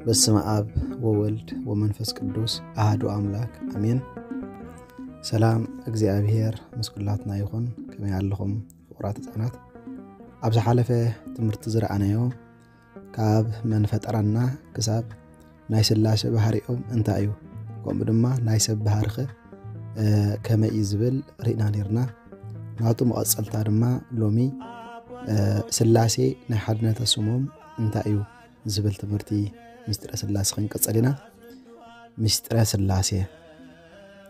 በስመ ኣብ ወወልድ ወመንፈስ ቅዱስ ኣሃዱ ኣምላክ ኣሜን። ሰላም እግዚኣብሔር ምስ ኩላትና ይኹን። ከመይ ኣለኹም ፍቑራት ህፃናት? ኣብ ዝሓለፈ ትምህርቲ ዝረኣናዮ ካብ መን ፈጠረና ክሳብ ናይ ስላሴ ባህሪኦም እንታይ እዩ፣ ከምኡ ድማ ናይ ሰብ ባህርኸ ከመይ እዩ ዝብል ርኢና ነርና። ናቱ መቐፀልታ ድማ ሎሚ ስላሴ ናይ ሓድነተ ስሞም እንታይ እዩ ዝብል ትምህርቲ ምስጢረ ስላሴ ክንቀፀል ኢና። ምስጢረ ስላሴ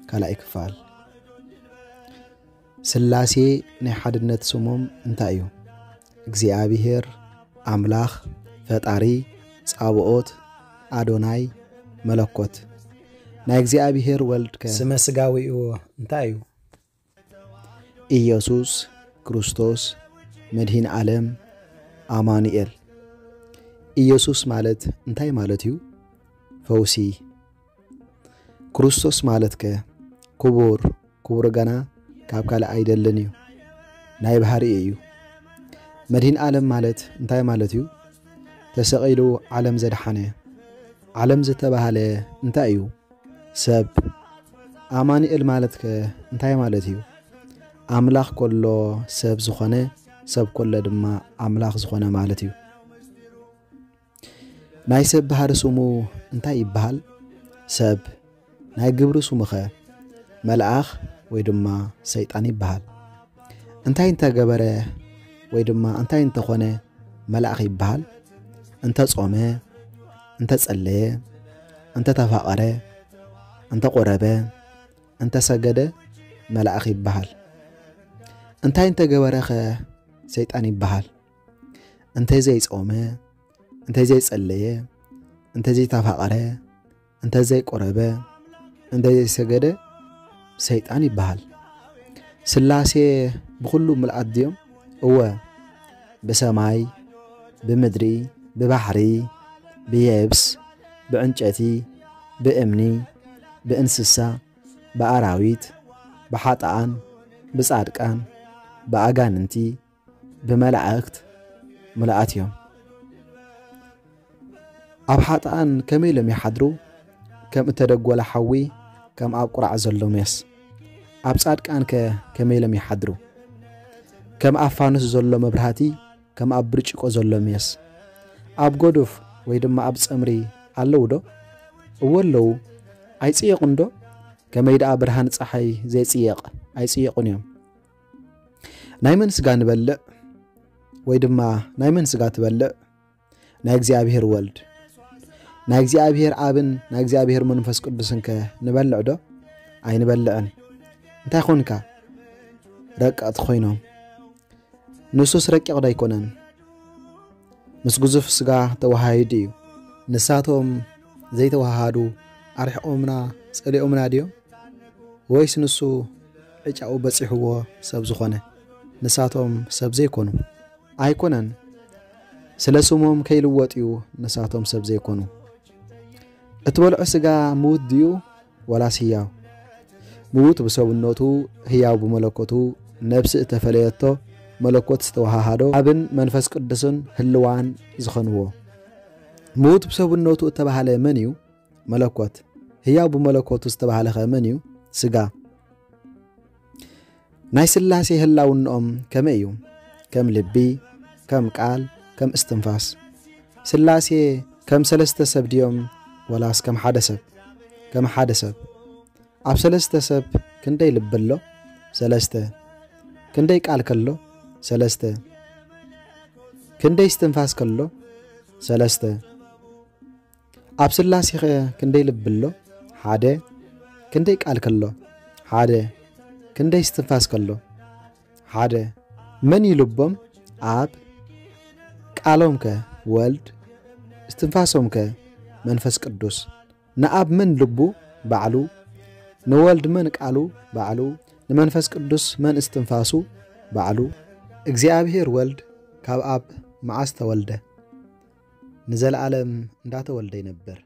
ካልኣይ ክፋል። ስላሴ ናይ ሓድነት ስሞም እንታይ እዩ? እግዚኣብሔር ኣምላኽ፣ ፈጣሪ፣ ጻብኦት፣ ኣዶናይ፣ መለኮት። ናይ እግዚኣብሔር ወልድ ከ ስመ ስጋዊኡ እንታይ እዩ? ኢየሱስ ክርስቶስ መድሂን ዓለም ኣማኑኤል። ኢየሱስ ማለት እንታይ ማለት እዩ? ፈውሲ። ክርስቶስ ማለት ከ ክቡር፣ ክቡር ገና ካብ ካልእ ኣይደልን እዩ፣ ናይ ባህሪኡ እዩ። መድሂን ዓለም ማለት እንታይ ማለት እዩ? ተሰቒሉ ዓለም ዘድሓነ። ዓለም ዝተባህለ እንታይ እዩ? ሰብ። ኣማኑኤል ማለት ከ እንታይ ማለት እዩ? ኣምላኽ ከሎ ሰብ ዝኾነ፣ ሰብ ከሎ ድማ ኣምላኽ ዝኾነ ማለት እዩ። ናይ ሰብ ባህሪ ስሙ እንታይ ይበሃል? ሰብ። ናይ ግብሪ ስሙኸ መልኣኽ ወይ ድማ ሰይጣን ይበሃል። እንታይ እንተገበረ ወይ ድማ እንታይ እንተኾነ መልኣኽ ይበሃል? እንተጾመ፣ እንተጸለየ፣ እንተተፋቐረ፣ እንተቆረበ፣ እንተሰገደ መልኣኽ ይበሃል። እንታይ እንተገበረኸ ሰይጣን ይበሃል? እንተዘይጾመ፣ እንተዘይጸለየ፣ እንተዘይተፋቐረ፣ እንተዘይቆረበ፣ እንተዘይሰገደ ሰይጣን ይበሃል። ስላሴ ብኹሉ ምልኣት ድዮም? እወ፣ ብሰማይ፣ ብምድሪ፣ ብባሕሪ፣ ብየብስ፣ ብዕንጨቲ፣ ብእምኒ፣ ብእንስሳ፣ ብኣራዊት፣ ብሓጥኣን፣ ብጻድቃን፣ ብኣጋንንቲ፣ ብመላእክት ምልኣት እዮም። ኣብ ሓጥኣን ከመይ ኢሎም ይሓድሩ? ከም እተደጎለ ሓዊ፣ ከም ኣብ ቁራዕ ዘሎ ሜስ። ኣብ ጻድቃንከ ከመይ ኢሎም ይሓድሩ? ከም ኣብ ፋኑስ ዘሎ መብራህቲ፣ ከም ኣብ ብርጭቆ ዘሎ ሜስ። ኣብ ጎዱፍ ወይ ድማ ኣብ ጸምሪ ኣለዉ ዶ? እወ ኣለዉ። ኣይጽየቑን ዶ? ከመይ ደኣ ብርሃን ጸሓይ ዘይጽየቕ? ኣይጽየቑን እዮም። ናይ መን ስጋ ንበልዕ? ወይ ድማ ናይ መን ስጋ ትበልዕ? ናይ እግዚኣብሔር ወልድ። ናይ እግዚኣብሔር ኣብን ናይ እግዚኣብሔር መንፈስ ቅዱስን ከ ንበልዕ ዶ? ኣይንበልዕን። እንታይ ኾንካ? ረቀቕቲ ኾይኖም። ንሱስ ረቂቕ ዶ ኣይኮነን? ምስ ግዙፍ ስጋ ተወሃሂዱ እዩ። ንሳቶም ዘይተወሃሃዱ ኣርሒቖምና፣ ጸሊኦምና ድዮም? ወይስ ንሱ ዕጫኡ በጺሕዎ ሰብ ዝኾነ? ንሳቶም ሰብ ዘይኮኑ? ኣይኮነን። ስለ ስሞም ከይልወጥ እዩ ንሳቶም ሰብ ዘይኮኑ። እትበልዖ ስጋ ምዉት ድዩ ዋላስ ህያው? ምዉት ብሰብነቱ፣ ህያው ብመለኮቱ፣ ነፍሲ እተፈለየቶ፣ መለኮት ዝተወሃሃዶ፣ ኣብን መንፈስ ቅዱስን ህልዋን ዝኾንዎ። ምዉት ብሰብነቱ እተባህለ መን እዩ? መለኮት። ህያው ብመለኮቱ ዝተባህለ ኸ መን እዩ? ስጋ። ናይ ስላሴ ህላውንኦም ከመይ እዩ? ከም ልቢ፣ ከም ቃል፣ ከም እስትንፋስ። ስላሴ ከም ሰለስተ ሰብ ድዮም ወላስ ከም ሓደ ሰብ? ከም ሓደ ሰብ። ኣብ ሰለስተ ሰብ ክንደይ ልቢ ኣሎ? ሰለስተ። ክንደይ ቃል ከሎ? ሰለስተ። ክንደይ እስትንፋስ ከሎ? ሰለስተ። ኣብ ስላሴኸ ክንደይ ልቢ ኣሎ? ሓደ። ክንደይ ቃል ከሎ? ሓደ። ክንደይ እስትንፋስ ከሎ? ሓደ። መን እዩ ልቦም? ኣብ። ቃሎም ከ? ወልድ። እስትንፋሶም ከ? መንፈስ ቅዱስ። ንኣብ መን ልቡ? ባዕሉ። ንወልድ መን ቃሉ? ባዕሉ። ንመንፈስ ቅዱስ መን እስትንፋሱ? ባዕሉ። እግዚኣብሔር ወልድ ካብ ኣብ መዓስ ተወልደ? ንዘለዓለም እንዳተወልደ ይነብር።